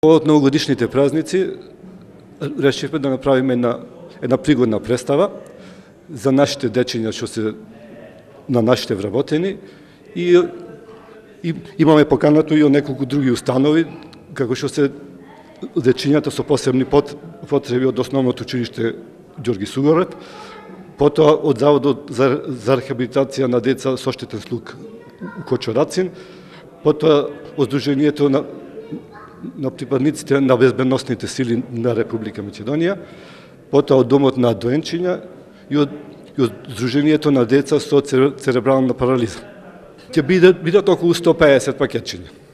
Повод новогодишните празници решивме да направиме една пригодна представа за нашите дечиња што се на нашите вработени и имаме поканато и од неколку други установи, како што се дечињата со посебни потреби од Основното училиште Ѓорги Сугорет, потоа од Заводот за рехабилитација на деца со оштетен слух Кочорацин, потоа од Сдруженијето на припадниците на безбедносните сили на Република Македонија, потоа од Домот на доенчиња и од Сдруженијето на деца со церебрална парализа. Ќе бидат околу 150 пакетчиња.